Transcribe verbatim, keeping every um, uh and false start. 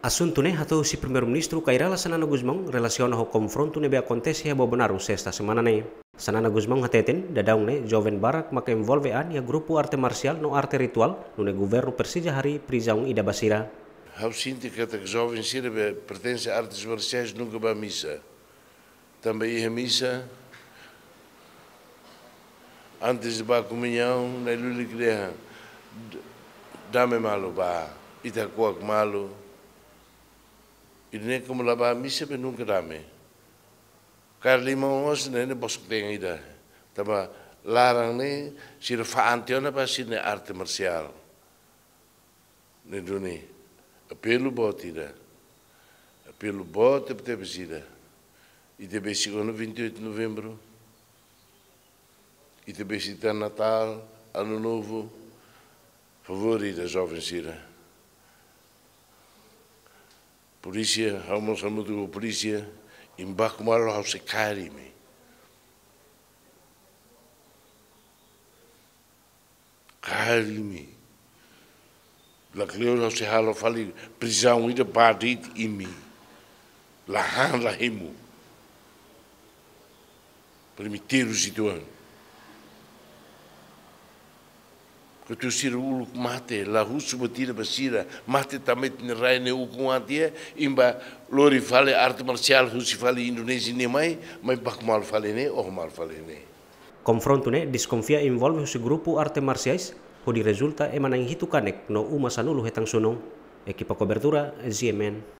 Asuntu ne'e hato'o husi Primeiru-Ministru Kay Rala Xanana Gusmão relasiona ho konfrontu ne'ebé akontese iha Bobonaro, sesta semana ne'e. Xanana Gusmão hateten, daudaun ne'e joven barak maka envolve an iha grupu arte marsiál no arte rituál, nune'e governu presiza harii prizaun ida ba sira. Ha'u sente katak joven sira be pertense artes marsiais nunka bá misa. Tanba iha misa, antes de bá komuñaun, na'i-lulik dehan, d-, dame malu bá, ita hakuak malu. Ida-ne'e komu la bá misa be nunka dame. Kaer liman mós ne'e, ne'e bosok-teen ida. Tanba laran ne'e, sira fa'an tiha ona ba sira-nia arte marsiál. Ne'e duni, apelu boot ida. Apelu boot tebetebes ida. Ita besik ona vinte e oito de Novembro. Ita besik tan Natál, Ano Novo. Favór ida joven sira. Polísia, ha'u mós hamutuk ho polísia, imi baku malu ha'u sei kaer imi. Kaer imi. Lakleur ha'u sei halo fali prizaun ida ba de'it imi. La han la hemu. Primeiru sira uitoan. Kuandu sira uluk mate, la husu buat ida ba sira, mate tanba ita-nia rai ne'e ukun an tiha, imi bá lori fali arte marsiál husi fali Indonézia ne'e mai, mai baku malu fali ne'e, oho malu fali ne'e. Konfrontu ne'e deskonfia envolve husi grupu arte marsiais, hodi rezulta ema na'in hitu kanek no uma sanulu hetan sunun. Ekipa kobertura, G M N.